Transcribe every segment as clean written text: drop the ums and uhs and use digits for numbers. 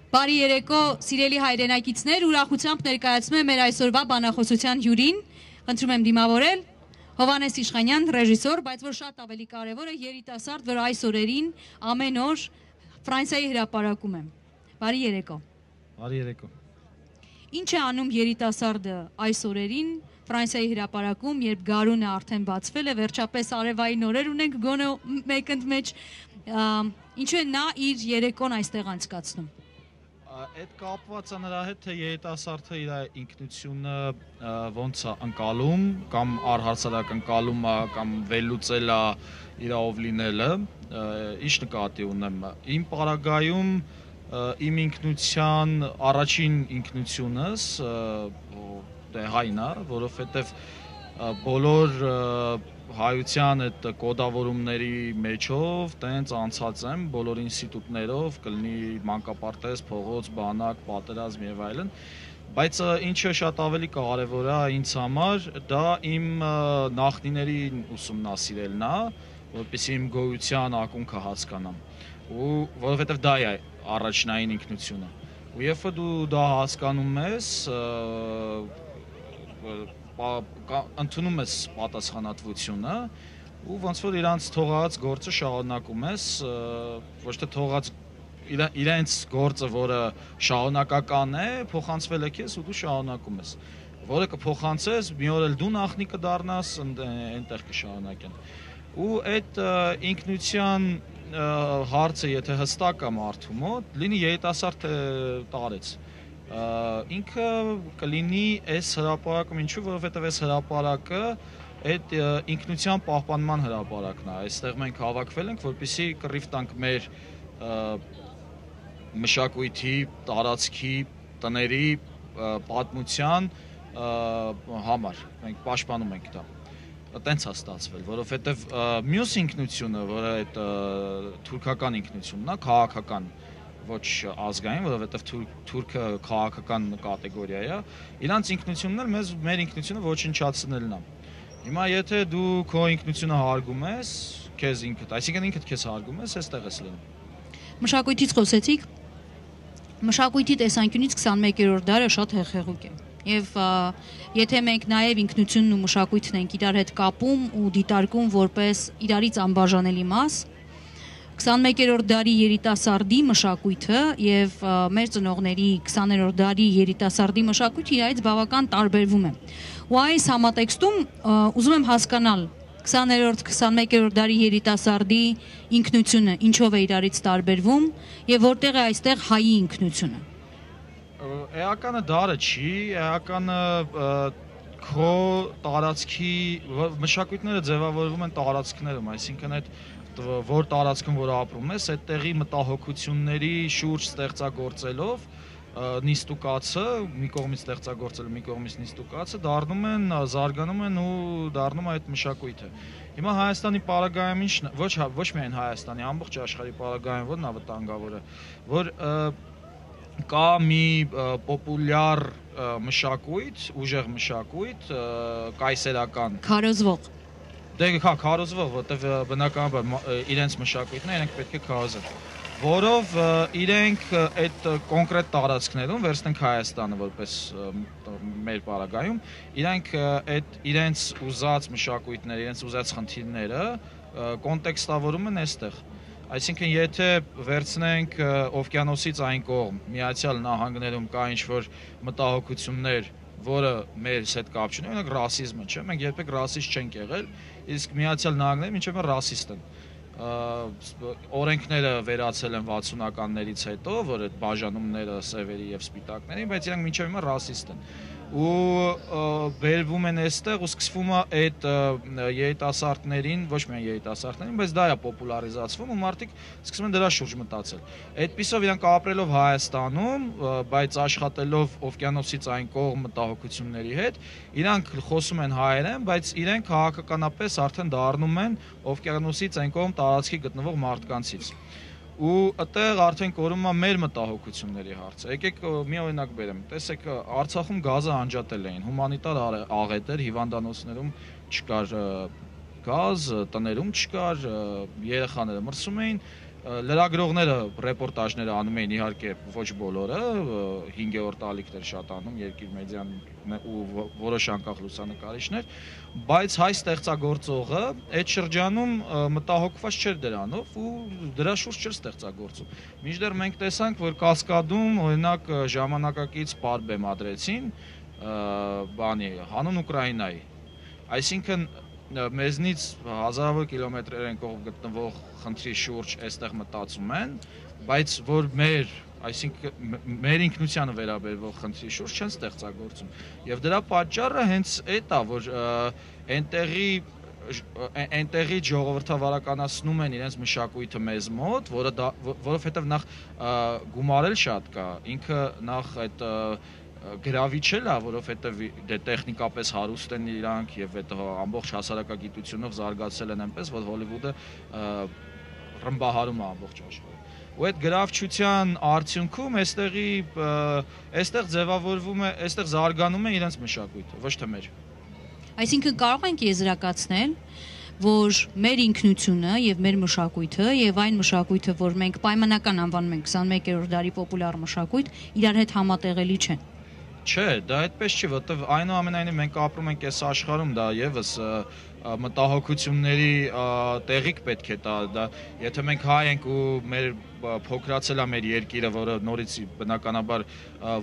Բարի երեկո, սիրելի հայրենակիցներ, ուրախությամբ ներկայացնում եմ մեր այսօրվա բանախոսության հյուրին, խնդրում եմ դիմավորել, Հովհաննես Իշխանյան, ռեժիսոր, բայց որ շատ ավելի կարևորը երիտասարդ, որ այս օրերին ամեն օր Ֆրանսիայի հրապարակում եմ։ Բարի երեկո։ Բարի երեկո։ Ինչ է անում երիտասարդը այս օրերին Ֆրանսիայի հրապարակում, երբ գարունը արդեն բացվել է, վերջապես արևային օրեր ունենք, գոնե մեկընդմեջ, ինչու է նա իր երեկոն այստեղ անցկացնում։ Այդ կապված է նրա հետ, թե երիտասարդը իր ինքնությունը ոնց է ընկալում, կամ առհասարակ ընկալում է, կամ վերլուծել է իր ով լինելը, ինչ նկատի ունեմ։ Իմ պարագայում իմ ինքնության առաջին ինքնությունս հայն է, որովհետև բոլոր հայության այդ կոդավորումների մեջով տենց անցած եմ բոլոր ինստիտուտներով, կլինի մանկապարտեզ, փողոց, բանակ, պատերազմ եւ այլն, բայց ինչը շատ ավելի կարեւոր է ինձ համար, դա իմ նախնիներին ուսումնասիրելն է, որպեսզի իմ գոյության ակունքը հասկանամ, ու որովհետեւ դա է առաջնային ինքնությունը, ու երբ դու դա հասկանում ես, ընդունում ես պատասխանատվությունը ու ոնց որ իրանց թողած գործը շարունակում ես, ոչ թե թողած իրենց գործը, որը շարունակական է, փոխանցվել է քեզ ու դու շարունակում ես, որը կփոխանցես, մի օր էլ դու նախնի կդառնաս, այնտեղ կշարունակեն։ Ու այդ ինքնության հարցը, եթե հստակ է մարդու մոտ, լինի երիտասարդ տարեց, ինքը կլինի այս հրապարակում, ինչու, որովհետև այս հրապարակը այդ ինքնության պահպանման հրապարակն է, այստեղ մենք հավաքվել ենք, որպեսզի կռիվ տանք մեր մշակույթի, տարածքի, տների պատմության համար, մենք պաշտպանում ենք դա, տենց է ստացվել, որովհետև մյուս ինքնությունը, որը այդ թուրքական ինքնությունն է, քաղաքական, ոչ ազգային, որովհետև թուրքը քաղաքական կատեգորիա է, իրանց ինքնությունն էլ մեր ինքնությունը ոչնչացնելն է։ Հիմա եթե դու քո ինքնությունը հարգում ես, քեզ ինքդ, այսինքն ինքդ քեզ հարգում ես, այստեղ ես լինում։ Մշակույթից խոսեցիք, մշակույթի տեսանկյունից 21-րդ դարը շատ հեղեղուկ է։ Եվ եթե մենք նաև ինքնությունն ու մշակույթն ենք իրար հետ կապում ու դիտարկում որպես իրարից անբաժանելի մաս, 21-րդ դարի երիտասարդի մշակույթը եւ մեր ծնողների 20-րդ դարի երիտասարդի մշակույթը իրարից բավական տարբերվում է։ Ու այս համատեքստում ուզում եմ հասկանալ 20-րդ, 21-րդ դարի երիտասարդի ինքնությունը ինչով է իրարից տարբերվում եւ որտեղ է այստեղ հայի ինքնությունը։ Էականը դարը չի, էականը քո տարածքի մշակույթները ձևավորվում են տարածքներում, այսինքն այդ որ տարածքում որ ապրում ես, այդ տեղի մտահոգությունների շուրջ ստեղծագործելով նիստուկացը, մի կողմից ստեղծագործել, մի կողմից նիստուկացը դառնում են, զարգանում են ու դառնում է այդ մշակույթը։ Հիմա Հայաստանի պարագայում ինչն է, ոչ միայն Հայաստանի, ամբողջ աշխարհի պարագայում որն է վտանգավորը, որ կա մի պոպուլյար մշակույթ, ուժեղ մշակույթ, կայսերական, քարոզվող Դե քարոզվող, որտեվ բնականաբար իրենց մշակույթն է, իրենք պետք է քարոզեն, որով իրենք այդ կոնկրետ տարածքներում վերցնենք Հայաստանը որպես մեր պարագայում, իրենք այդ իրենց ուզած մշակույթները, իրենց ուզած խնդիրները կոնտեքստավորում են այստեղ։ Այսինքն եթե վերցնենք օվկիանոսից այն կողմ, Միացյալ Նահանգներում կա ինչ-որ մտահոգություններ, որը մեր հետ կապ չունի, օրինակ ռասիզմը, չէ՞, մենք երբեք ռասիստ չենք եղել, իսկ Միացյալ Նահանգները մինչև ռասիստ են։ Օրենքները վերացել են 60-ականներից հետո, որ այդ բաժանումները սևերի եւ սպիտակների, բայց իրանք մինչև հիմա ռասիստ են։ Ու վերվում են այստեղ ու սկսվում է այդ երիտասարդներին, ոչ միայն երիտասարդներին, բայց դա է պոպուլարիզացվում ու մարդիկ սկսում են դրա շուրջ մտածել։ Այդպիսով իրանք ապրելով Հայաստանում, բայց աշխատելով օվկիանոսից այն կողմ մտահոգությունների հետ, իրանք խոսում են հայերեն, բայց իրենք քաղաքականապես արդեն դառնում են օվկիանոսից այն կողմ տարածքի գտնվող մարդկանցից։ Ու այդտեղ արդեն կորում է մեր մտահոգությունների հարցը։ Եկեք մի օրինակ բերեմ։ Տեսեք, Արցախում գազը անջատել էին, հումանիտար աղետ էր, հիվանդանոցներում չկար գազ, տներում չկար, երեխաները մրսում էին, լրագրողները ռեպորտաժները անում էին իհարկե ոչ բոլորը, 5-րդ տալիքներ շատ անում, Երկիր մեդիան ու որոշ անկախ լուսանկարիչներ, բայց հայ ստեղծագործողը այդ շրջանում մտահոգված չէր դրանով ու դրա շուրջ չէր ստեղծագործում։ Մինչդեռ մենք տեսանք, որ Կասկադում օրինակ ժամանակակից պար բեմադրեցին հանուն Ուկրաինայի, այսինքն մեզնից հազարավոր կիլոմետրեր են կողմ գտնվող խնդրի շուրջ այստեղ մտածում են, բայց որ այսինքն մեր ինքնությանը վերաբերվող խնդրի շուրջ չեն ստեղծագործում։ Եվ դրա պատճառը հենց այդ է, որ այնտեղի ժողովրդավարականացնում են իրենց մշակույթը մեզ մոտ, որովհետև նախ գումարել շատ կա, ինքը նախ այդ գրավիչ էլ է, որովհետև տեխնիկապես հարուստ են իրանք եւ այդ ամբողջ հասարակագիտությունով զարգացել են այնպես, որ Հոլիվուդը ռմբահարում է ամբողջ աշխարհը։ Ու այդ գրավչության արդյունքում այստեղ ձևավորվում է, այստեղ զարգանում է իրենց մշակույթը, ոչ թե մեր։ Այսինքն կարող ենք եզրակացնել, որ մեր ինքնությունը եւ մեր մշակույթը եւ այն մշակույթը, որ մենք պայմանական անվանում ենք 21-րդ դարի պոպուլյար մշակույթ, իրար հետ համատեղելի չեն։ Չէ, դա այդպես չի, որովհետև այնուամենայնիվ մենք ապրում ենք այս աշխարհում, դա եւս մտահոգությունների տեղիք պետք է տա, դա եթե մենք հայ ենք ու մեր փոքրացել է մեր երկիրը, որը նորից բնականաբար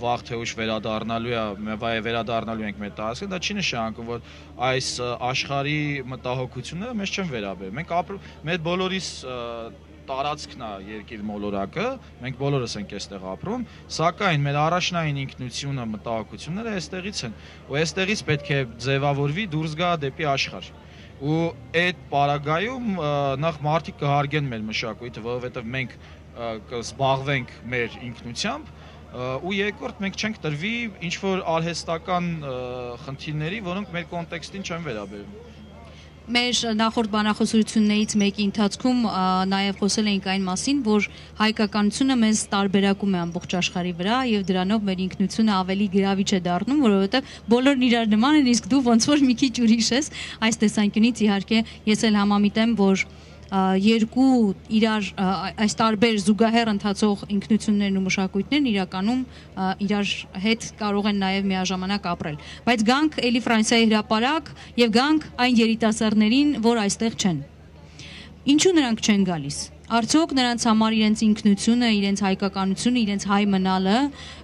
վաղ թե ուշ վերադառնալու ենք մեր տարածքը, դա չի նշանակում, որ այս աշխարհի մտահոգությունները մեզ չեն վերաբերում։ Մենք ապրում, մեր բոլորիս տարածքն է երկիր մոլորակը, մենք բոլորս ենք այստեղ ապրում, սակայն մեր առաջնային ինքնությունը, մտահոգությունները այստեղից են, ու այստեղից պետք է ձևավորվի դուրս գա դեպի աշխարհ։ Ու այդ պարագայում նախ մարդիկ կհարգեն մեր մշակույթը, որովհետև մենք կզբաղվենք մեր ինքնությամբ, ու երկրորդ մենք չենք տրվի ինչ-որ արհեստական խնդիրների, որոնք մեր կոնտեքստին չեն վերաբերում։ Մեր նախորդ բանախոսություններից մեկի ընթացքում նաև խոսել էինք այն մասին, որ հայկականությունը մեզ տարբերակում է ամբողջ աշխարհի վրա եւ դրանով մեր ինքնությունը ավելի գրավիչ է դառնում, որովհետեւ բոլորն իրար նման են, իսկ դու ոնց որ մի քիչ ուրիշ ես, այս տեսանկյունից իհարկե ես էլ համամիտեմ, որ երկու իրար այս տարբեր զուգահեռ ընթացող ինքնություններն ու մշակույթներն իրականում իրար հետ կարող են նաև միաժամանակ ապրել։ Բայց գանք էլի Ֆրանսիայի հրապարակ եւ գանք այն երիտասարդներին, որ այստեղ չեն։ Ինչու նրանք չեն գալիս։ Արդյոք նրանց համար իրենց ինքնությունը, իրենց հայկականությունը, իրենց հայ մնալը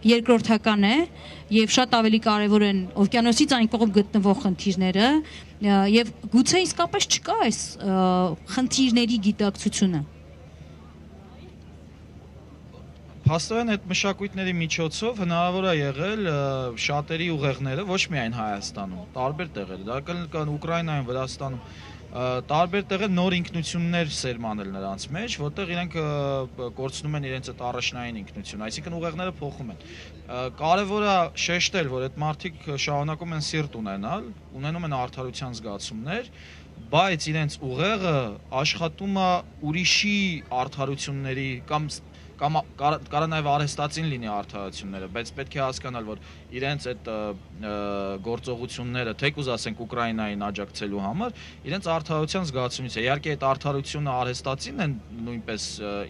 երկրորդական է եւ շատ ավելի կարեւոր են օվկիանոսից այն կողմ գտնվող խնդիրները եւ գուցե իսկապես չկա այս խնդիրների գիտակցությունը։ Փաստորեն այդ մշակույթների միջոցով հնարավոր է եղել շատերի ուղեղները ոչ միայն Հայաստանում, տարբեր տեղեր, դա կան Ուկրաինայում, Վրաստանում, տարբեր տեղեր նոր ինքնություններ սերմանել նրանց մեջ, որտեղ իրենք կորցնում են իրենց այդ առաջնային ինքնությունը, այսինքն ուղեղները փոխում են։ Կարևոր է շեշտել, որ այդ մարդիկ շարունակում են սիրտ ունենալ, ունենում են արդարության զգացումներ, բայց իրենց ուղեղը աշխատում է ուրիշի արդարությունների կամ կարա նաև արհեստածին լինի արդարությունները, բայց պետք է հասկանալ, որ իրենց այդ գործողությունները, թեկուզ ասենք Ուկրաինային աջակցելու համար, իրենց արդարության զգացումից է։ Իհարկե այդ արդարությունը արհեստածին են նույնպես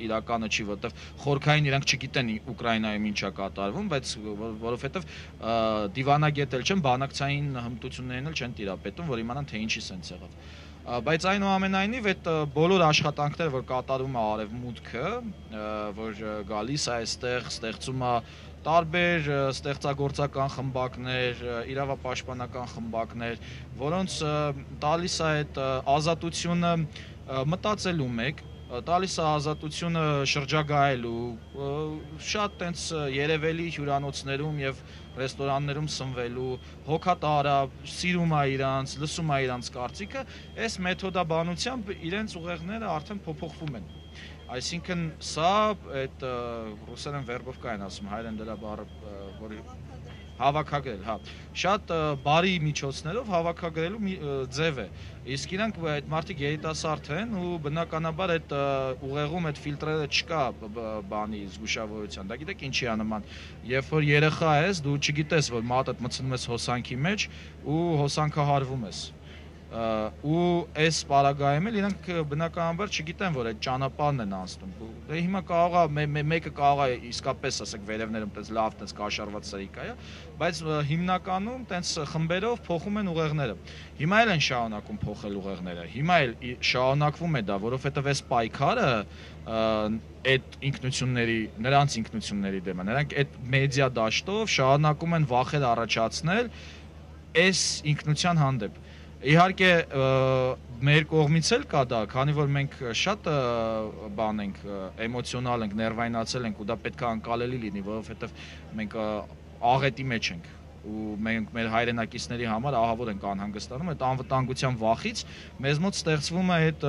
իրականը չի, որովհետև խորքային իրանք չգիտեն Ուկրաինայում ինչ է կատարվում, բայց որովհետև դիվանագետ էլ չեն, բանակցային հմտություններին էլ չեն տիրապետում, որ իմանան թե ինչի սենց եղավ։ Բայց այնուամենայնիվ այդ բոլոր աշխատանքները, որ կատարում է Արևմուտքը, որ գալիս է այստեղ, ստեղծում է տարբեր ստեղծագործական խմբակներ, իրավապաշտպանական խմբակներ, որոնց տալիս է այդ ազատությունը մտածելու մեկ, տալիս է ազատությունը շրջագայելու, շատ տենց երևելի հյուրանոցներում եւ ռեստորաններում սնվելու, հոգատար է, սիրում է իրանց, լսում է իրանց կարծիքը, այս մեթոդաբանությամբ իրենց ուղեղները արդեն փոփոխվում են։ Այսինքն սա այդ ռուսերեն վերբովկա են ասում, հայերեն դրա բառը, որի հավաքագրել, հա, շատ բարի միջոցներով հավաքագրելու ձև է։ Իսկ իրանք այդ մարդիկ երիտասարդ են ու բնականաբար այդ ուղեղում այդ ֆիլտրերը չկա բանի զգուշավորության։ Դա գիտեք ինչի է նման։ Երբ որ երեխա ես, դու չգիտես, որ մատդ մցնում ես հոսանքի մեջ ու հոսանքահարվում ես։ ու այս պարագայում էլ իրանք բնականաբար չգիտեն, որ այդ ճանապարհն են անցնում։ Դե հիմա կարող է մեկը կարող է իսկապես ասեք վերևներում տես լավ տես կաշառված սրիկա է, բայց հիմնականում տես խմբերով փոխում են ուղեղները։ Հիմա էլ են շարունակում փոխել ուղեղները։ Հիմա էլ շարունակվում է դա, որովհետև այս պայքարը այդ ինքնությունների, նրանց ինքնությունների դեմ է։ Նրանք այդ մեդիա դաշտով շարունակում են վախեր առաջացնել այս ինքնության հանդեպ։ Իհարկե մեր կողմից էլ կա դա, քանի որ մենք շատ բան ենք, էմոցիոնալ ենք, ներվայնացել ենք ու դա պետք է անկալելի լինի, որովհետև մենք աղետի մեջ ենք ու մենք մեր հայրենակիցների համար ահավոր ենք անհանգստանում, այդ անվտանգության վախից մեզ մոտ ստեղծվում է այդ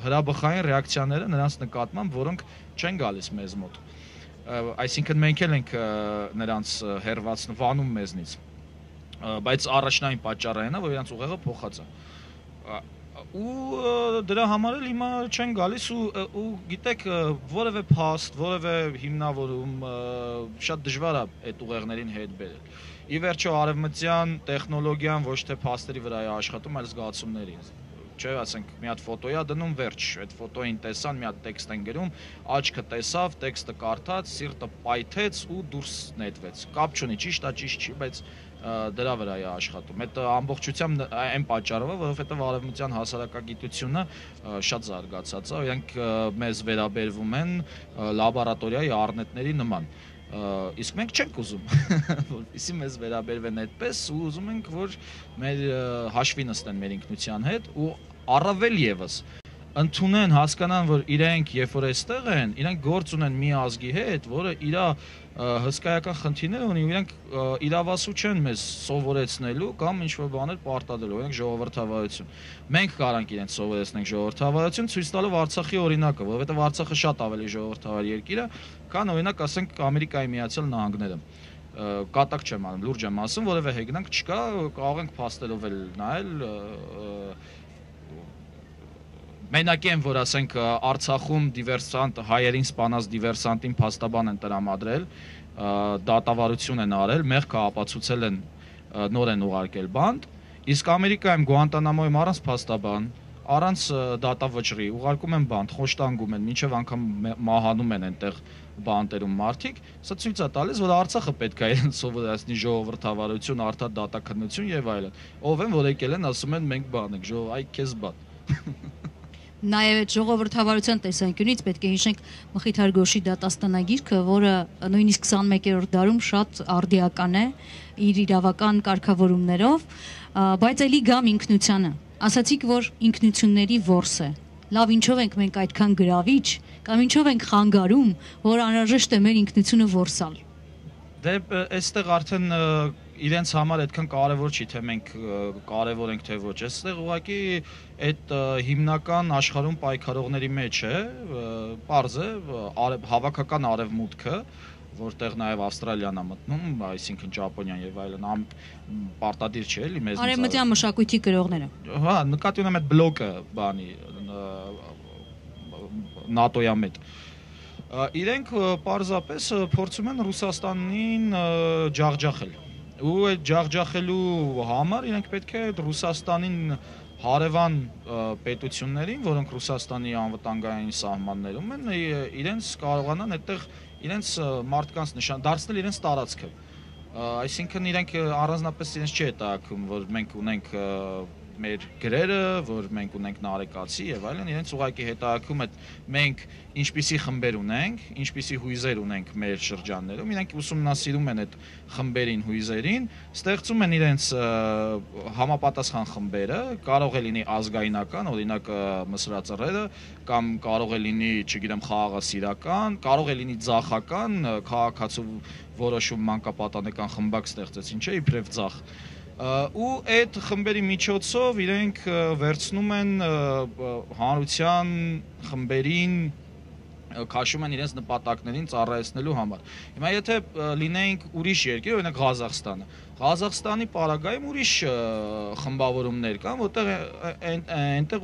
հրաբխային ռեակցիաները նրանց նկատմամբ, որոնք չեն գալիս մեզ մոտ։ Այսինքն մենք էլ ենք նրանց հերվածնում, վանում մեզնից։ Բայց առաջնային պատճառը այն է, որ իրանց ուղեղը փոխած է։ Ու դրա համար էլ հիմա չեն գալիս ու գիտեք, որևէ փաստ, որևէ հիմնավորում շատ դժվար է այդ ուղեղներին հետ բերել։ Ի վերջո արևմտյան տեխնոլոգիան ոչ թե փաստերի վրա է աշխատում, այլ զգացումների։ Չէ, ասենք մի հատ ֆոտո է դնում, վերջ, այդ ֆոտոին տեսան, մի հատ տեքստ են գրում, աչքը տեսավ, տեքստը կարդաց, սիրտը պայթեց ու դուրս նետվեց։ Կապ չունի, ճիշտ է, ճիշտ չի, բայց դրա վրա է աշխատում։ Այդ ամբողջությամբ այն պատճառով է, որովհետև արևմտյան հասարակագիտությունը շատ զարգացած է, իրենք մեզ վերաբերվում են լաբորատորիայի առնետների նման։ Իսկ մենք չենք ուզում, որպեսզի մեզ վերաբերվեն այդպես ու ուզում ենք, որ մեր հաշվի նստեն մեր ինքնության հետ ու առավել եւս ընդունեն, հասկանան, որ իրենք երբ որ այստեղ են, իրենք գործ ունեն մի ազգի հետ, որը իր հսկայական խնդիրներ ունի, իրենք իրավասու չեն մեզ սովորեցնելու կամ ինչ-որ բաներ պարտադրելու, իրենք ժողովրդավարություն։ Մենք կարանք իրենց սովորեցնենք ժողովրդավարություն, ցույց տալով Արցախի օրինակը, որովհետև Արցախը շատ ավելի ժողովրդավար երկիր է, քան օրինակ ասենք Ամերիկայի Միացյալ Նահանգները։ Կատակ չեմ անում, լուրջ եմ ասում, որևէ հեգնանք չկա, կարող ենք փաստերով էլ նայել Մենակ են, որ ասենք Արցախում դիվերսանտ հայերին սպանած դիվերսանտին փաստաբան են տրամադրել, դատավարություն են արել, մեղքը ապացուցել են, նոր են ուղարկել բանդ, իսկ Ամերիկայում Գուանտանամոյում առանց փաստաբան, առանց դատավճռի ուղարկում են բանդ, խոշտանգում են, մինչև անգամ մահանում են այնտեղ բանտերում մարդիկ, սա ցույց է տալիս, որ Արցախը պետք է իրեն սովորեցնի ժողովրդավարություն, արդար դատաքննություն եւ այլն։ Ով են, որ եկել են, ասում են մենք բան ենք, այ քեզ բան։ Նաև այդ ժողովրդավարության տեսանկյունից պետք է հիշենք Մխիթար Գոշի դատաստանագիրքը, որը նույնիսկ 21-րդ դարում շատ արդիական է իր իրավական կարգավորումներով, բայց ելի գամ ինքնությանը։ Ասացիք, որ ինքնությունների որս է։ Լավ, ինչով ենք մենք այդքան գրավիչ, կամ ինչով ենք խանգարում, որ անհրաժեշտ է մեր ինքնությունը որսալ։ Դե այստեղ արդեն իրենց համար այդքան կարևոր չի, թե մենք կարևոր ենք, թե ոչ։ Այստեղ ուղղակի այդ հիմնական աշխարհում պայքարողների մեջ է, պարզ է, հավաքական արևմուտքը, որտեղ նաև Ավստրալիան է մտնում, այսինքն Ճապոնիան եւ այլն, պարտադիր չէ, էլի մեզ։ Արևմտյան մշակույթի գրողները։ Հա, նկատի ունեմ այդ բլոկը, բանի ՆԱՏՕ-ի մեջ։ Իրենք պարզապես փորձում են Ռուսաստանին ջախջախել։ Ու այդ ջախջախելու համար իրենք պետք է Ռուսաստանին հարևան պետություններին, որոնք Ռուսաստանի անվտանգային սահմաններում են, իրենց կարողանան այդտեղ իրենց մարդկանց նշան դարձնել իրենց տարածքը։ Այսինքն իրենք առանձնապես իրենց չի հետաքրքրում, որ մենք ունենք մեր գրերը, որ մենք ունենք նարեկացի եւ այլն, իրենց ուղղակի հետաքրքրում է մենք ինչպիսի խմբեր ունենք, ինչպիսի հույզեր ունենք մեր շրջաններում, իրենք ուսումնասիրում են այդ խմբերին, հույզերին, ստեղծում են իրենց համապատասխան խմբերը, կարող է լինի ազգայնական, օրինակ մսրածռերը, կամ կարող է լինի, չգիտեմ, խաղաղասիրական, կարող է լինի ձախական, քաղաքացու որոշում մանկապատանեկան խմբակ ստեղծեցին, չէ՞, իբրև ձախ։ Ու այդ խմբերի միջոցով իրենք վերցնում են հանրության խմբերին, քաշում են իրենց նպատակներին ծառայեցնելու համար։ Հիմա եթե լինեինք ուրիշ երկիր, օրինակ Ղազախստանը, Ղազախստանի պարագայում ուրիշ խմբավորումներ կան, որտեղ այնտեղ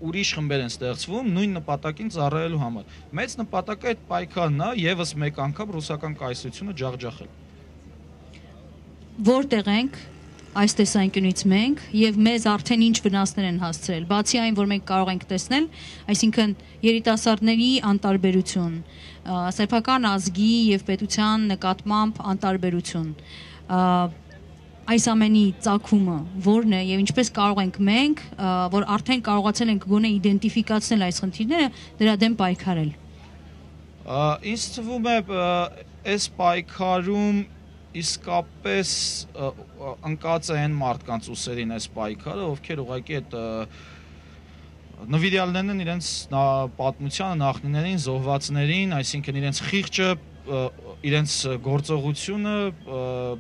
ուրիշ խմբեր են ստեղծվում նույն նպատակին ծառայելու համար։ Մեծ նպատակը այդ պայքարն է, եւս մեկ անգամ ռուսական կայսրությունը ջախջախել։ Որտեղ ենք, այս տեսանկյունից մենք եւ մեզ արդեն ինչ վնասներ են հասցրել։ Բացի այն, որ մենք կարող ենք տեսնել, այսինքն երիտասարդների անտարբերություն, սեփական ազգի եւ պետության նկատմամբ անտարբերություն, այս ամենի ծագումը որն է եւ ինչպես կարող ենք մենք, որ արդեն կարողացել ենք գոնե իդենտիֆիկացնել այս խնդիրները, դրա դեմ պայքարել։ Ինձ թվում է այս պայքարում իսկապես ընկած է այն մարդկանց ուսերին այս պայքարը, ովքեր ուղղակի այդ նվիրյալներն են իրենց պատմությանը, նախնիներին, զոհվածներին, այսինքն իրենց խիղճը, իրենց գործողությունը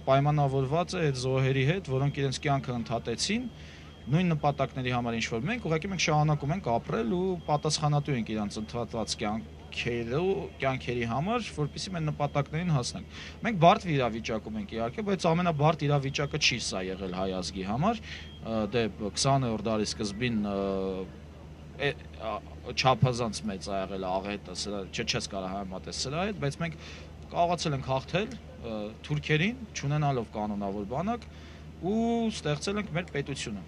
պայմանավորված է այդ զոհերի հետ, որոնք իրենց կյանքը ընդհատեցին նույն նպատակների համար, ինչ որ մենք շարունակում ենք ապրել ու պատասխանատու ենք իրենց ընդհատված կյանքերի համար, որպեսզի մենք նպատակներին հասնենք։ Մենք բարդ իրավիճակում ենք իհարկե, բայց ամենաբարդ իրավիճակը չի սա եղել հայ ազգի համար, դե 20-րդ դարի սկզբին չափազանց մեծ ա եղել աղետը, չես կարող համեմատել սրա հետ, բայց մենք կարողացել ենք հաղթել թուրքերին, չունենալով կանոնավոր բանակ ու ստեղծել ենք մեր պետությունը։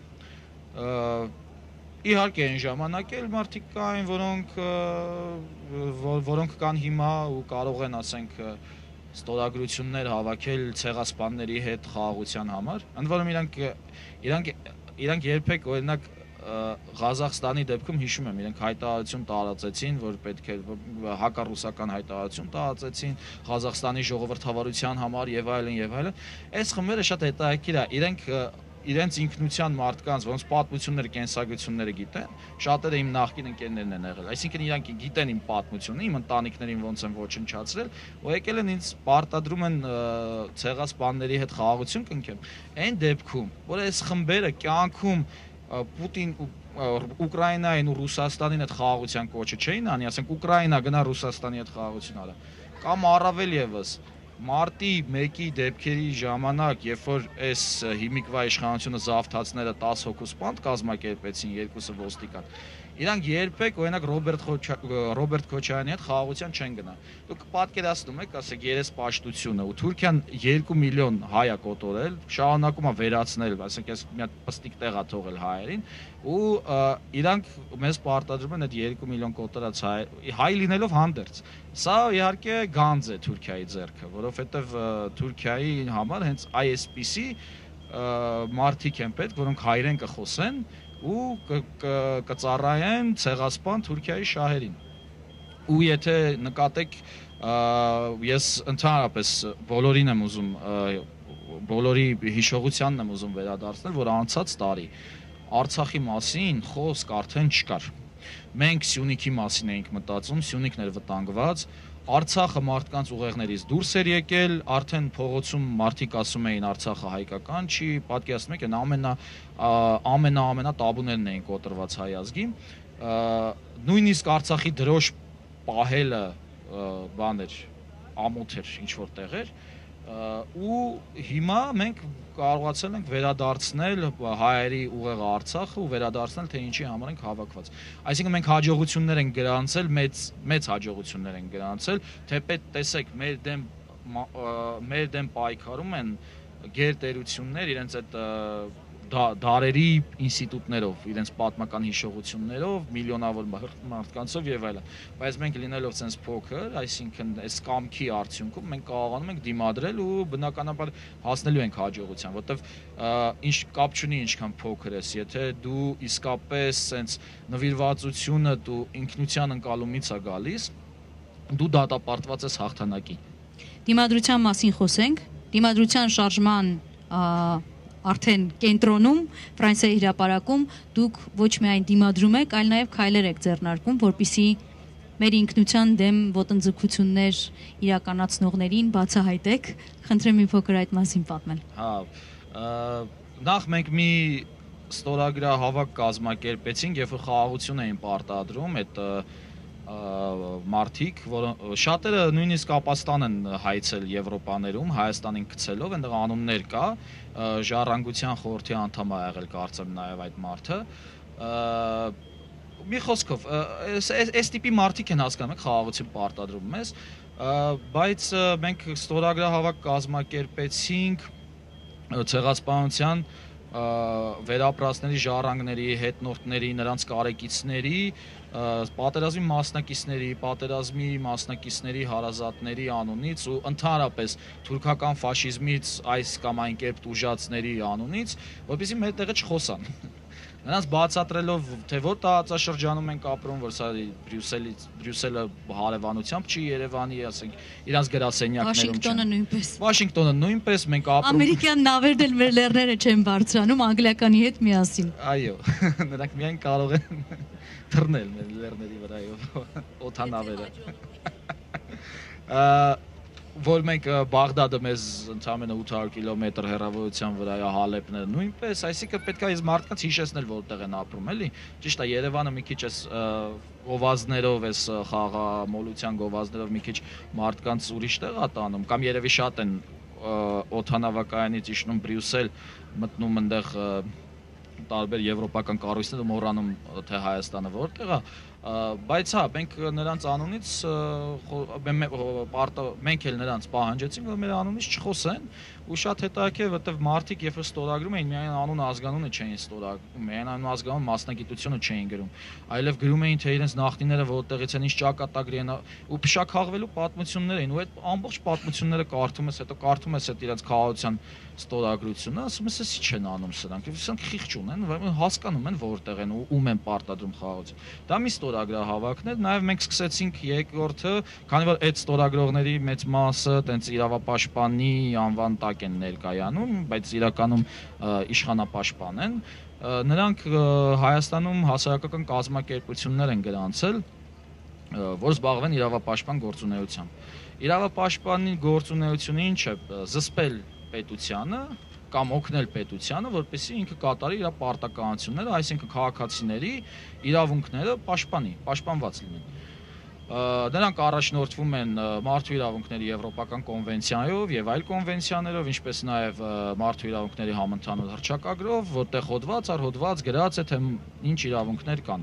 Իհարկե այն ժամանակ էլ մարդիկ կային, որոնք կան հիմա ու կարող են, ասենք, ստորագրություններ հավաքել ցեղասպանների հետ խաղաղության համար։ Ընդ որում իրանք երբեք, օրինակ, Ղազախստանի դեպքում հիշում եմ, իրենք հայտարարություն տարածեցին, որ պետք է հակառուսական հայտարարություն տարածեցին Ղազախստանի ժողովրդավարության համար եւ այլն։ Այս խմբերը շատ հետաքրքիր է, իրենց ինքնության մարդկանց, որոնց պատմությունները, կենսագրությունները գիտեն, շատերը իմ նախկին ընկերներն են եղել։ Այսինքն իրանք գիտեն իմ պատմությունը, իմ ընտանիքներին ոնց են ոչնչացրել, ու եկել են ինձ պարտադրում են ցեղասպանների հետ խաղաղություն կնքեմ։ Այն դեպքում, որ այս խմբերը կյանքում Պուտին Ուկրաինային ու Ռուսաստանին հետ խաղաղության կոչը չէին անի, ասենք Ուկրաինա գնա Ռուսաստանի հետ խաղաղություն արա, կամ առավել եւս մարտի 1-ի դեպքերի ժամանակ, երբ որ այս հիմիկվա իշխանությունը զավթացները 10 հոգու սպանդ կազմակերպեցին, 2-ը ոստիկան, իրանք երբեք, օրինակ Ռոբերտ Քոչարյանի հետ խաղաղության չեն գնա։ Դուք պատկերացնում եք, ասեք, երեսպաշտությունը, ու Թուրքիան 2 միլիոն հայ է կոտորել, շարունակում է վերացնել, ասենք, այս մի հատ պստիկ տեղ է թողել հայերին, ու իրանք մեզ պարտադրում են այդ 2 միլիոն կոտորած հայ լինելով հանդերձ։ Սա իհարկե գանձ է Թուրքիայի ձեռքը, որովհետև Թուրքիայի համար հենց այսպիսի մարդիկ են պետք, որոնք հայերեն կխոսեն ու կծառայեն ցեղասպան Թուրքիայի շահերին։ Ու եթե նկատեք, ես ընդհանրապես բոլորին եմ ուզում, բոլորի հիշողությանն եմ ուզում վերադարձնել, որ անցած տարի Արցախի մասին խոսք արդեն չկար։ Մենք Սյունիքի մասին էինք մտածում, Սյունիքն էր վտանգված, Արցախը մարդկանց ուղեղներից դուրս էր եկել, արդեն փողոցում մարդիկ ասում էին Արցախը հայկական չի, պատկերացնում եք, ամենա տաբուներն էին կոտրված հայ ազգի, նույնիսկ Արցախի դրոշ պահելը բաներ, ամոթ էր ինչ-որ տեղեր, ու հիմա մենք կարողացել ենք վերադարձնել հայերի ուղեղը Արցախը ու վերադարձնել, թե ինչի համար ենք հավաքված։ Այսինքն մենք հաջողություններ ենք գրանցել, մեծ հաջողություններ ենք գրանցել, թեպետ տեսեք, մեր դեմ պայքարում են գերտերություններ իրենց այդ դարերի ինստիտուտներով, իրենց պատմական հիշողություններով, միլիոնավոր մարդկանցով եւ այլն։ Բայց մենք լինելով ցենց փոքր, այսինքն այս կամքի արդյունքում մենք կարողանում ենք դիմադրել ու բնականաբար հասնելու ենք հաջողության, որտեվ ինչ կապ չունի ինչքան փոքր ես, եթե դու իսկապես ցենց նվիրվածությունը դու ինքնության ընկալումից է գալիս, դու դատապարտված ես հաղթանակի։ Դիմադրության մասին խոսենք, դիմադրության շարժման արդեն կենտրոնում, Ֆրանսիայի հրապարակում դուք ոչ միայն դիմադրում եք, այլ նաև քայլեր եք ձեռնարկում, որպեսզի մեր ինքնության դեմ ոտնձգություններ իրականացնողներին բացահայտեք։ Խնդրեմ մի փոքր այդ մասին պատմել։ Հա, նախ մենք մի ստորագրահավաք կազմակերպեցինք, երբ որ խաղաղություն էին պարտադրում, այդ մարդիկ, շատերը նույնիսկ ապաստան են հայցել Եվրոպաներում, Հայաստանին գցելով, այնտեղ անուններ կա, Ժառանգության խորհրդի անդամ ա եղել, կարծեմ նաև այդ մարդը։ Մի խոսքով, այս տիպի մարդիկ են հասկանում, եք խաղաղություն պարտադրում մեզ, բայց մենք ստորագրահավաք կազմակերպեցինք ցեղասպանության վերապրածների ժառանգների, հետնորդների, նրանց կարեկիցների, պատերազմի մասնակիցների հարազատների անունից ու ընդհանրապես թուրքական ֆաշիզմից այս կամ այն կերպ տուժածների անունից, որպեսզի մեր տեղը չխոսան։ Նրանց բացատրելով, թե որ տարածաշրջանում ենք ապրում, որ սա Բրյուսելը հարևանությամբ չի Երևանի, ասենք, իրանց գրասենյակներում չեն։ Վաշինգտոնը նույնպես, մենք ապրում։ Ամերիկյան նավերն էլ մեր լեռները չեն բարձրանում անգլիականի հետ միասին։ Այո, նրանք միայն կարող են թռնել մեր լեռների վրայով, օդանավերը։ Որ մենք Բաղդադը մեզ ընդամենը 800 կիլոմետր հեռավորության վրա է, Հալեբները նույնպես, այսինքն պետք է այս մարդկանց հիշեցնել որտեղ են ապրում, էլի։ Ճիշտ է, Երևանը մի քիչ էս գովազդներով, էս խաղամոլության գովազդներով մի քիչ մարդկանց ուրիշ տեղ է տանում, կամ երևի շատ են օդանավակայանից իջնում Բրյուսել, մտնում այնտեղ տարբեր եվրոպական կառույցներ ու մոռանում թե Հայաստանը որտեղ է, բայց հա, մենք նրանց անունից մենք էլ նրանց պահանջեցինք, որ մեր անունից չխոսեն, ու շատ հետաքրքիր, որտեղ մարդիկ երբ ստորագրում էին, միայն անունը ազգանունը չէին ստորագրում, միայն անունը ազգանուն մասնագիտությունը չէին գրում, այլև գրում էին, թե իրենց նախնիները որտեղից են, ինչ ճակատագրի են, ու փշաքաղվելու պատմություններ էին, ու այդ ամբողջ պատմությունները կարդում ես, հետո կարդում ես այդ իրենց քաղաքության ստորագրությունը, ասում ես, ի՞նչ են անում սրանք, սրանք խիղճ ունեն, հասկանում են որտեղ են ու ում են պարտադրում խաղաղություն։ Դա մի ստորագրահավաքներ, նաև մենք սկսեցինք երկրորդը, քանի որ այդ ստորագրողների մեծ մասը տենց իրավապաշտպանի անվան տակ են ներկայանում, բայց իրականում իշխանապաշտպան են, նրանք Հայաստանում հասարակական կազմակերպություններ են գրանցել, որ զբաղվեն իրավապաշտպան գործունեությամբ։ Իրավապաշտպանի գործունեությունը ինչ է, զսպել պետությանը կամ օգնել պետությանը, որպեսզի ինքը կատարի իր պարտականությունները, այսինքն քաղաքացիների իրավունքները պաշտպանված լինեն։ Նրանք առաջնորդվում են մարդու իրավունքների եվրոպական կոնվենցիայով եւ այլ կոնվենցիաներով, ինչպես նաեւ մարդու իրավունքների համընդհանուր հռչակագրով, որտեղ հոդված առ հոդված գրած է, թե ինչ իրավունքներ կան։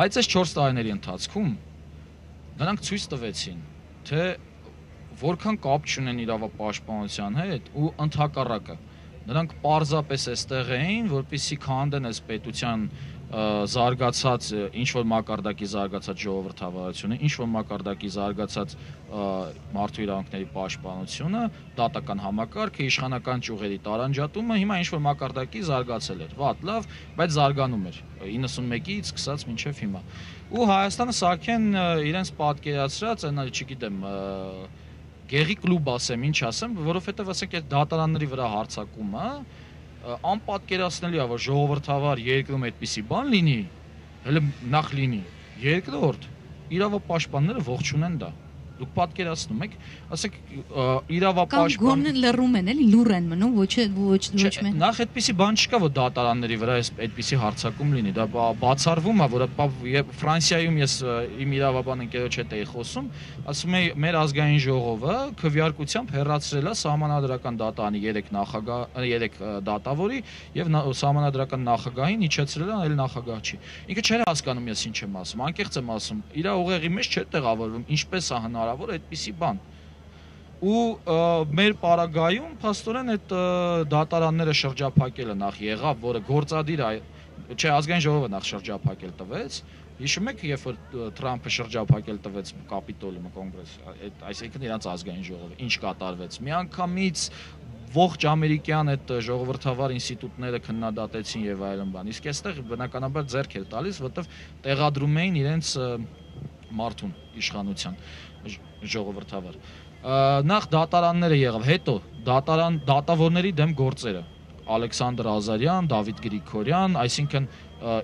Բայց այս 4 տարիների ընթացքում նրանք ցույց տվեցին, թե որքան կապ չունեն իրավապաշտպանության հետ ու ընդհակառակը նրանք պարզապես այստեղ էին, որպեսզի քանդեն այս պետության զարգացած ինչ-որ մակարդակի զարգացած ժողովրդավարությունը, ինչ-որ մակարդակի զարգացած մարդու իրավունքների պաշտպանությունը, դատական համակարգը, իշխանական ճյուղերի տարանջատումը, հիմա ինչ-որ մակարդակի զարգացել էր։ Վատ, լավ, բայց զարգանում էր 91-ից սկսած մինչև հիմա։ Ու Հայաստանը սարքեն իրենց պատկերացրած, այնա չգիտեմ, գեղի կլուբ ասեմ, ինչ ասեմ, որովհետև ասենք այդ դատարանների վրա հարձակումը անպատկերացնելի է, որ ժողովրդավար երկրում այդպիսի բան լինի, հələ նախ լինի, երկրորդ իրավապաշտպանները ողջ ունեն դա։ Դուք պատկերացնում եք, ասեք իրավապաշտպան կամ գոնե լռում են, էլի լուր են մնում, ոչ մեն։ Նախ այդպիսի բան չկա, որ դատարանների վրա այդպիսի հարձակում լինի, դա բացառվում է, որ Ֆրանսիայում ես իմ իրավաբան ընկերոջ հետ էի խոսում, ասում էի մեր ազգային ժողովը քվեարկությամբ հեռացրել է սահմանադրական դատարանի 3 դատավորի եւ սահմանադրական նախագահին իջեցրել է, այլ նախագահ չի։ Ինքը չէր հասկանում ես ինչ եմ ասում, անկեղծ եմ ասում, իր ուղեղի մեջ չէր տեղավորվում, ինչպես է հնարավոր այդպիսի բան։ Ու մեր պարագայում փաստորեն այդ դատարանները շրջափակելը նախ եղավ, որը գործադիր է, չէ, ազգային ժողովը նախ շրջափակել տվեց։ Հիշում եք, երբ որ Թրամփը շրջափակել տվեց Կապիտոլիումը, կոնգրես, այսինքն իրանց ազգային ժողովը, ինչ կատարվեց։ Միանգամից ողջ ամերիկյան այդ ժողովրդավար ինստիտուտները քննադատեցին եւ այլն բան։ Իսկ այստեղ բնականաբար ձեռք էր տալիս, որովհետեւ տեղադրում էին իրենց մարդուն իշխանության ժողովրդավար։ Նախ դատարանները եղավ, հետո դատավորների դեմ գործերը։ Ալեքսանդր Ազարյան, Դավիթ Գրիգորյան, այսինքն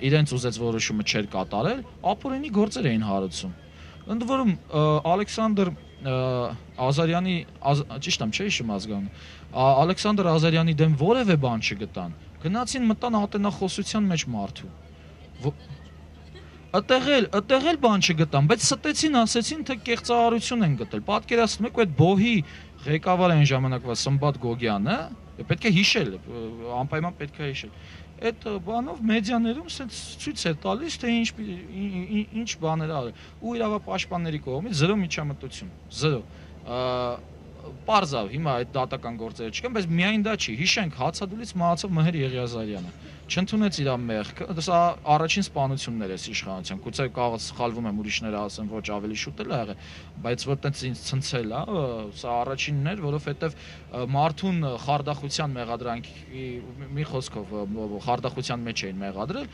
իրենց ուզեց որոշումը չէր կատարել, ապօրինի գործեր էին հարուցում։ Ընդ որում Ալեքսանդր Ազարյանի, ճիշտ եմ, չէ՞ հիշում ազգանունը, Ալեքսանդր Ազարյանի դեմ որևէ բան չգտան։ Գնացին մտան ատենախոսության մեջ մարդու։ Այդտեղ էլ բան չգտան, բայց ստեցին, ասեցին, թե կեղծարարություն են գտել։ Պատկերացնում եք, այդ բոհի ղեկավար այն ժամանակվա Սմբատ Գոգյանը, պետք է հիշել, անպայման պետք է հիշել։ Այդ բանով մեդիաներում ցույց է տալիս, թե ինչ բաներ արել։ Ու իրավապաշտպանների կողմից 0 միջամտություն, 0։ Պարզավ, հիմա այդ դատական գործերը չկան, բայց միայն դա չի։ Հիշենք, հացադուլից մահացավ Մհեր Եղիազարյանը։ Չընդունեց իր մեղքը, սա առաջին սպանություններ է իշխանության։ Գուցե կարող սխալվում եմ, ուրիշները ասեն, ոչ ավելի շուտ էլ ա եղել, բայց որ տենց ինձ ցնցել է, սա առաջինն էր, որովհետև մարդուն խարդախության մեղադրանքի մի խոսքով խարդախության մեջ էին մեղադրել,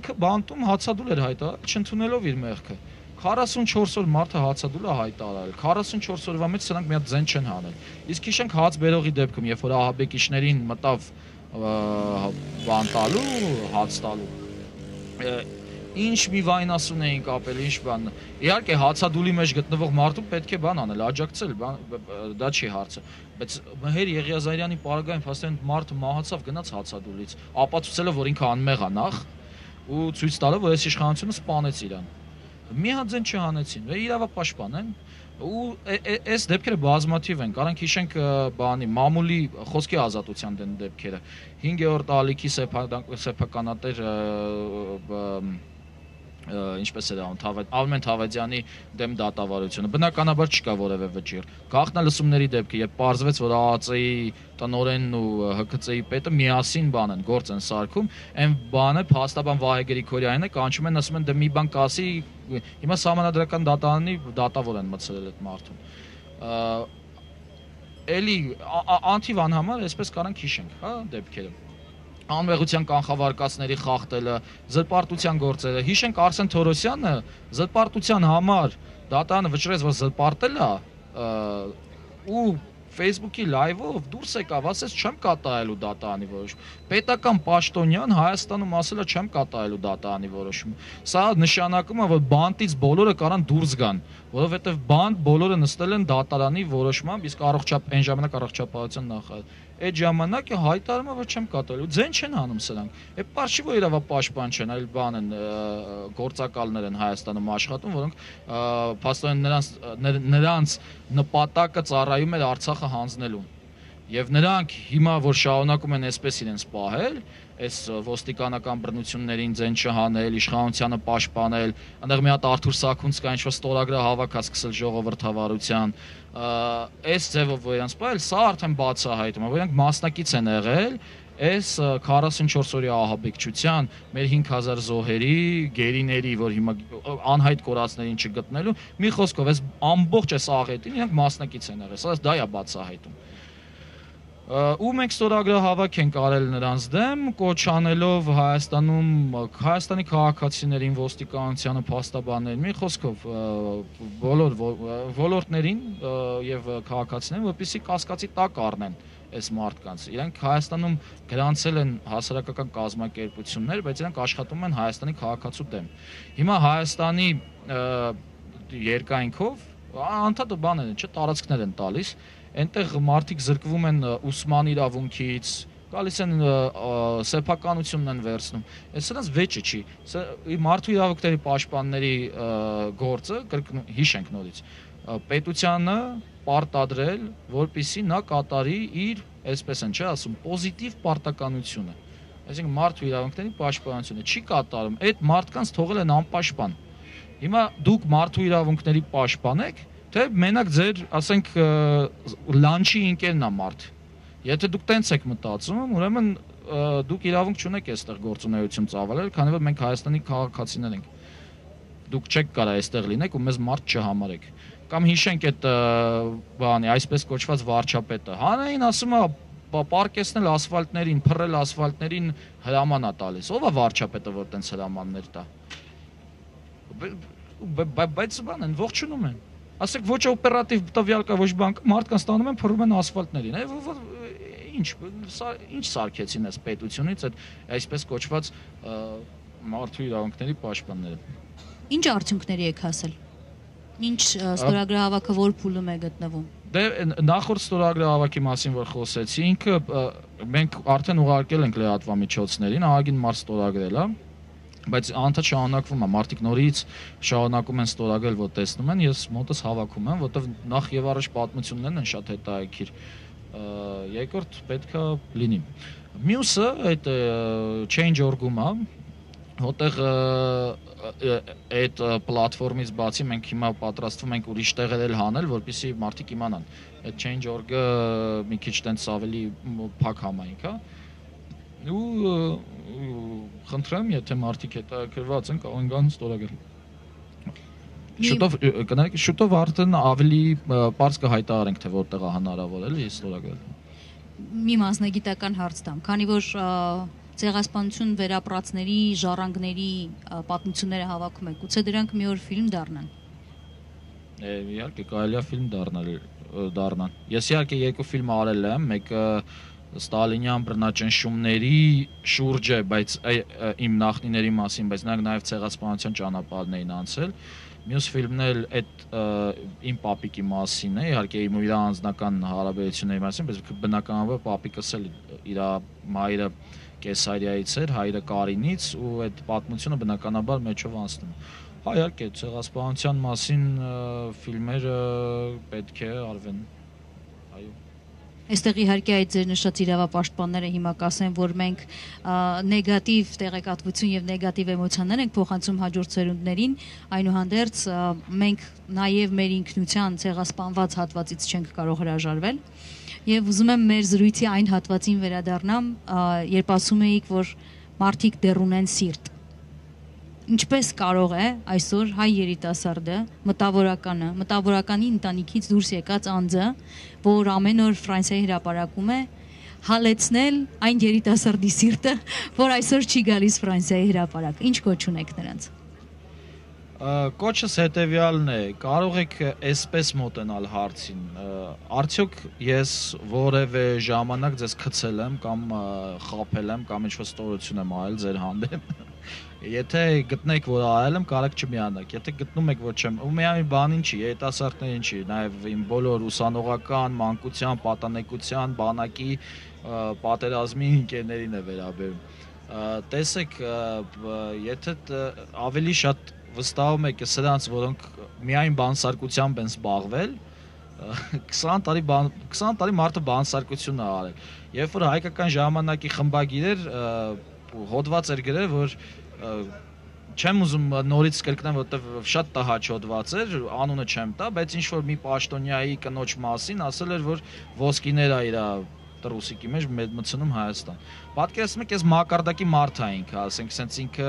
ինքը բանտում հացադուլ էր հայտարարել, չընդունելով իր մեղքը։ 44 օր մարդը հացադուլ է հայտարարել, 44 օրվա մեջ սրանք մի հատ ձեն չեն հանել։ Իսկ հիշենք հաց բերողի դեպքում, երբ որ ահաբեկիչներին մտավ բան տալու, հաց տալու, ինչ մի վայնասուն էին կապել, ինչ բան։ Իհարկե հացադուլի մեջ գտնվող մարդու պետք է բան անել, աջակցել, դա չի հարցը։ Բայց Մհեր Եղիազարյանի պարագայում փաստորեն մարդը մահացավ գնաց հացադուլից, ապացուցելով, որ ինքը անմեղ է նախ, ու ցույց տալով, որ այս իշխանությունը սպանեց իրան։ Մի հատ ձեն չհանեցին, իրավապաշտպան են, ու այս դեպքերը բազմաթիվ են, կարանք հիշենք բանի մամուլի խոսքի ազատության դեն դեպքերը, 5-րդ ալիքի սեփականատեր ինչպես էր Արմեն Թավադյանի դեմ դատավարությունը, բնականաբար չկա որևէ վճիռ։ Գաղտնալսումների դեպքը, երբ պարզվեց, որ ԱԱԾ-ի տնօրենն ու ՀԿՑ-ի պետը միասին բան են, գործ են սարքում, այն բանը փաստաբան Վահե Գրիգորյանն է, կանչում են, ասում են դե մի բան կասի, հիմա Սահմանադրական դատարանի դատավոր են մտցրել այդ մարդուն։ Էլի անթիվ անհամար, այսպես կարանք հիշենք, հա, դեպքերը։ Անմեղության կանխավարկածների խախտելը, զրպարտության գործերը։ Հիշենք Արսեն Թորոսյանը զրպարտության համար դատարանը վճռեց, որ զրպարտել է ու Facebook-ի լայվով դուրս եկավ, ասեց չեմ կատարելու դատարանի որոշում։ Պետական պաշտոնյան Հայաստանում ասել է չեմ կատարելու դատարանի որոշում։ Սա նշանակում է, որ բանտից բոլորը կարան դուրս գան, որովհետև բանտ բոլորը նստել են դատարանի որոշմամբ, իսկ այն ժամանակ առողջապահության նախարար։ Այդ ժամանակ հայտարարում է, որ չեմ կատարելու, ձեն չեն անում սրանք։ Է պարզի որ իրավապաշտպան չեն, այլ բան են գործակալներ են Հայաստանում աշխատում, որոնք փաստորեն նրանց նպատակը ծառայում էր Արցախը հանձնելուն։ Եվ նրանք հիմա որ շարունակում են այսպես իրենց պահել, այս ոստիկանական բռնություններին ձեն չհանել, իշխանությանը պաշտպանել, այնտեղ մի հատ Արթուր Սաքունցկա ինչ-որ ստորագրա հավաքած սկսել ժողովրդավարության, այս ձևով որ իրենց պահել, սա արդեն բացահայտում է, որ իրենք մասնակից են եղել այս 44 օրյա ահաբեկչության, մեր 5000 զոհերի, գերիների, որ հիմա անհայտ կորածներին չգտնելու, մի խոսքով այս ամբողջ այս աղետին իրենք մասնակից են եղել, սա դա է բացահայտում։ Ու մենք ստորագրահավաք ենք արել նրանց դեմ, կոչ անելով Հայաստանի քաղաքացիներին, ոստիկանությանը, փաստաբաններին, մի խոսքով բոլոր ոլորտներին եւ քաղաքացիներին, որպեսզի կասկածի տակ առնեն այս մարդկանց։ Իրենք Հայաստանում գրանցել են հասարակական կազմակերպություններ, բայց իրենք աշխատում են Հայաստանի քաղաքացու դեմ։ Հիմա Հայաստանի երկայնքով անդադար բաներ են, չէ, տարածքներ են տալիս, այնտեղ մարդիկ զրկվում են ուսման իրավունքից, գալիս են սեփականությունն են վերցնում։ Այս սրանց վեճը չի։ Մարդու իրավունքների պաշտպանների գործը, հիշենք նորից, պետությանը պարտադրել, որպեսզի նա կատարի իր, այսպես են չէ ասում, պոզիտիվ պարտականությունը։ Այսինքն մարդու իրավունքների պաշտպանությունը չի կատարում, այդ մարդկանց թողել են անպաշտպան։ Հիմա դուք մարդու իրավունքների պաշտպան եք, թե մենակ ձեր, ասենք, լանչի ինքերն է մարդ։ Եթե դուք տենց եք մտածում, ուրեմն դուք իրավունք չունեք այստեղ գործունեություն ծավալել, քանի որ մենք Հայաստանի քաղաքացիներ ենք։ Դուք չեք կարա այստեղ լինեք ու մեզ մարդ չհամարեք։ Կամ հիշենք այդ բանի, այսպես կոչված վարչապետը։ Հանային ասում է պարկեսնել ասֆալտներին, փռել ասֆալտներին հրաման է տալիս։ Ո՞վ է վարչապետը, որ տենց հրամաններ տա։ Բայց բան են, ողջունում են։ Ասեք ոչ օպերատիվ տվյալ կա, ոչ բան կա, մարդկանց տանում են փռում են ասֆալտներին։ Ինչ սարքեցին այս պետությունից այդ այսպես կոչված մարդու իրավունքների պաշտպանները։ Ինչ արդյունքների եք հասել։ Ինչ ստորագրահավաքը որ փուլում է գտնվում։ Դե նախորդ ստորագրահավաքի մասին որ խոսեցի, ինքը մենք արդեն ուղարկել ենք լրատվամիջոցներին, ահագին մարդ ստորագրել է, բայց անդադ շարունակվում է, մարդիկ նորից շարունակում են ստորագրել, որ տեսնում են, ես մոտս հավաքում եմ, որտեղ նախ եւ առաջ պատմություններն են շատ հետաքրքիր, երկրորդ պետքա լինի։ Մյուսը այդ change.org-ում է, Որտեղ այդ պլատֆորմից բացի մենք հիմա պատրաստվում ենք ուրիշ տեղեր էլ հանել, որպեսզի մարդիկ իմանան։ Այդ change.org-ը մի քիչ տենց ավելի փակ համայնք է։ Ու խնդրեմ, եթե մարդիկ հետաքրքրված են, կարող են գան ստորագրել։ Շուտով արդեն ավելի բարձ կհայտարարենք, թե որտեղ է հնարավոր էլի ստորագրել։ Մի մասնագիտական հարց տամ, քանի որ ցեղասպանություն վերապրածների ժառանգների պատմությունները հավաքում եք, գուցե դրանք մի օր ֆիլմ դառնան։ Իհարկե կարելի է ֆիլմ դառնան։ Ես իհարկե երկու ֆիլմ արել եմ, մեկը Ստալինյան բռնաճնշումների շուրջ է, բայց իմ նախնիների մասին, բայց նրանք նաև ցեղասպանության ճանապարհն էին անցել։ Մյուս ֆիլմն էլ այդ իմ պապիկի մասին է, իհարկե իմ իր անձնական հարաբերությունների մասին, բայց բնականաբար պապիկս էլ իր մայրը Կեսարիայից էր, հայրը Կարինից, ու այդ պատմությունը բնականաբար մեջով անցնում։ Հա, իհարկե, ցեղասպանության մասին ֆիլմերը պետք է արվեն։ Այո։ Այստեղ իհարկե այդ ձեր նշած իրավապաշտպանները հիմա կասեն, որ մենք նեգատիվ տեղեկատվություն եւ նեգատիվ էմոցիաներ ենք փոխանցում հաջորդ սերունդներին, այնուհանդերձ մենք նաեւ մեր ինքնության ցեղասպանված հատվածից չենք կարող հրաժարվել։ Եվ ուզում եմ մեր զրույցի այն հատվածին վերադառնամ, երբ ասում էիք, որ մարդիկ դեռ ունեն սիրտ։ Ինչպես կարող է այսօր հայ երիտասարդը, մտավորականի ընտանիքից դուրս եկած անձը, որ ամեն օր Ֆրանսիայի հրապարակում է, հալեցնել այն երիտասարդի սիրտը, որ այսօր չի գալիս Ֆրանսիայի հրապարակ։ Ինչ կոչ ունեք նրանց։ Կոչս հետևյալն է, կարող եք այսպես մոտենալ հարցին, արդյոք ես որևէ ժամանակ ձեզ գցել եմ կամ խաբել եմ կամ ինչ-որ ստորություն եմ արել ձեր հանդեպ։ Եթե գտնեք, որ արել եմ, կարեք չմիանաք, եթե գտնում եք, որ չեմ, ու միայն բանին չի, երիտասարդներին չի, նաև իմ բոլոր ուսանողական, մանկության, պատանեկության, բանակի, պատերազմի ընկերներին է վերաբերում։ Տեսեք, եթե ավելի շատ վստահում եք սրանց, որոնք միայն բանսարկությամբ են զբաղվել, 20 տարի մարդը բանսարկություն է արել։ Երբ որ հայկական ժամանակի խմբագիրեր հոդված էր գրել, որ չեմ ուզում նորից կրկնեմ, որովհետև շատ տհաճ հոդված էր, անունը չեմ տա, բայց ինչ որ մի պաշտոնյայի կնոջ մասին ասել էր, որ ոսկիներ է իր տրուսիկի մեջ մտցնում Հայաստան։ Պատկերացնում եք, ես մակարդակի մարդ էինք, ասենք, սենց ինքը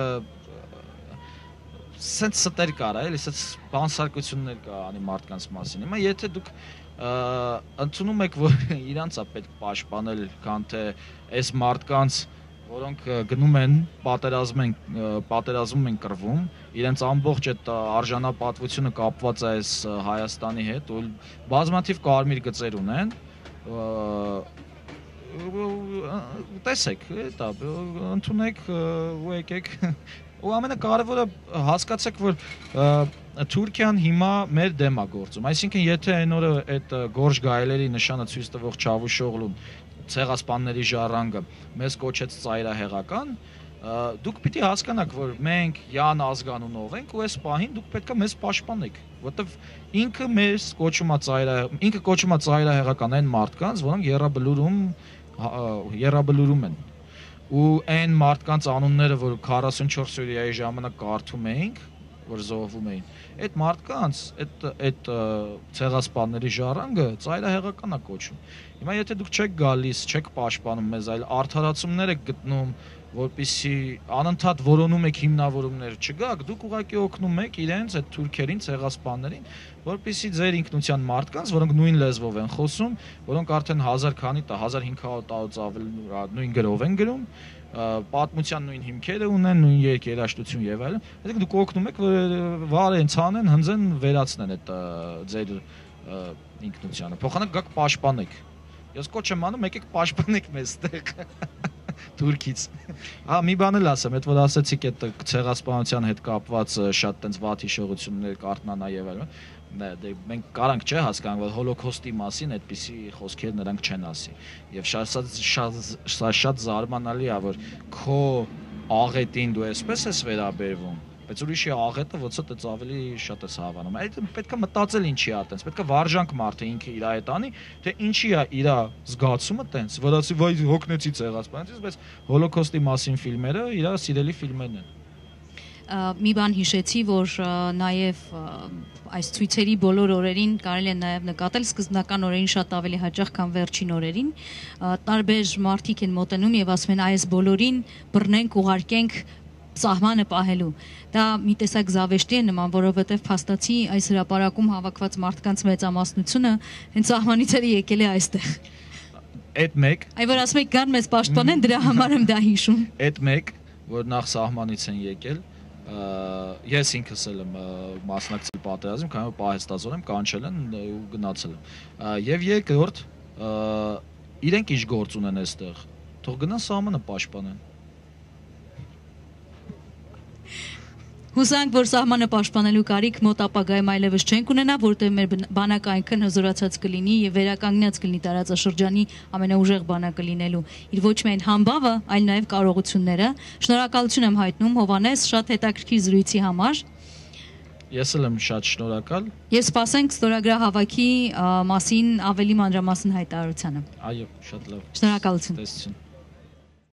սենց ստեր կար, էլի, սենց բանսարկություններ կա անի մարդկանց մասին։ Հիմա եթե դուք ընդունում եք, որ իրանց է պետք պաշտպանել, քան թե այս մարդկանց, որոնք գնում են պատերազմում են կռվում, իրենց ամբողջ այդ արժանապատվությունը կապված է այս Հայաստանի հետ, ու բազմաթիվ կարմիր գծեր ունեն, տեսեք, դա ընդունեք ու եկեք, ու ամենակարևորը հասկացեք, որ Թուրքիան հիմա մեր դեմ է գործում, այսինքն եթե այն օրը այդ Գորժ Գայլերի նշանը ցույց տվող Չավուշօղլուն ցեղասպանների ժառանգը մեզ կոչեց ծայրահեղական, դուք պիտի հասկանաք, որ մենք յան ազգանունով ենք ու այս պահին դուք պետք է մեզ պաշտպանեք, որովհետև ինքը մեզ կոչում է ծայրահեղական այն մարդկանց, որոնք եռաբլուրում են, ու այն մարդկանց անունները, որ 44 օրյայի ժամանակ կարդում էինք, որ զոհվում էին, այդ մարդկանց, այդ ցեղասպանների ժառանգը ծայրահեղական է կոչում։ Հիմա եթե դուք չեք գալիս, չեք պաշտպանում մեզ, այլ արդարացումներ եք գտնում, որպեսզի անընդհատ որոնում եք հիմնավորումներ չգաք, դուք ուղղակի օգնում եք իրենց այդ թուրքերին, ցեղասպաններին, որպեսզի ձեր ինքնության մարդկանց, որոնք նույն լեզվով են խոսում, որոնք արդեն 1000 քանի 1500 տարուց ավել նույն գրով են գրում, պատմության նույն հիմքերը ունեն, նույն երկերաշտություն եւ այլն, այսինքն դուք օգնում եք, որ վարեն, ցանեն, հնձեն, վերացնեն այդ ձեր ինքնությանը։ Փոխանակ գաք պաշտպանեք։ Ես կոչ եմ անում, եկեք պաշտպանեք մեզ տեղ Թուրքից։ Մի բան էլ ասեմ, այդ որ ասեցիք այդ ցեղասպանության հետ կապված շատ տենց վատ հիշողություններ կարտնանա եւ այլն։ Մենք կարանք չէ հասկանանք, որ հոլոկոստի մասին այդպիսի խոսքեր նրանք չեն ասի։ Եվ շատ զարմանալի է, որ քո աղետին դու այսպես ես վերաբերվում, բայց ուրիշի աղետը ոչոց ավելի շատ ես հավանում։ Այդ պետք է մտածել ինչի է տենց, պետք է վարժանք մարդը ինքը իր հետ անի, թե ինչի է իր զգացումը տենց, որ ասի վայ հոգնեցի ցեղասպանությունից, բայց հոլոկոստի մասին ֆիլմերը իր սիրելի ֆիլմերն են։ մի բան հիշեցի, որ նաև այս ցույցերի բոլոր օրերին կարելի է նաև նկատել սկզբնական օրերին շատ ավելի հաճախ, քան վերջին օրերին, տարբեր մարդիկ են մոտենում եւ ասում են այս բոլորին բռնենք, ուղարկենք սահմանը պահելու։ Դա մի տեսակ զավեշտի է նման, որովհետև փաստացի այս հրապարակում հավաքված մարդկանց մեծամասնությունը հենց սահմանից էլ եկել է այստեղ։ Այդ մեկ, այ որ ասում եք գան մեզ պաշտպանեն, դրա համար եմ դա հիշում։ այդ մեկ, որ նախ սահմանից են եկել, ես ինքս էլ եմ մասնակցել պատերազմ, քանի որ պահեստազոր եմ, կանչել են ու գնացել եմ։ Եվ երկրորդ, իրենք ինչ գործ ունեն այստեղ, թող գնան սահմանը պաշտպանեն։ Հուսանք, որ սահմանը պաշտպանելու կարիք մոտ ապագայում այլևս չենք ունենա, որտեղ մեր բանակը այնքան հզորացած կլինի եւ վերականգնած կլինի տարածաշրջանի ամենաուժեղ բանակը լինելու իր ոչ միայն համբավը, այլ նաեւ կարողությունները։ Շնորհակալություն եմ հայտնում Հովհաննես շատ հետաքրքիր զրույցի համար։ Ես էլ եմ շատ շնորհակալ։ Եվ սպասենք ստորագրահավաքի մասին ավելի մանրամասն հայտարարությանը։ Այո, շատ լավ։ Շնորհակալություն։ Տեսություն։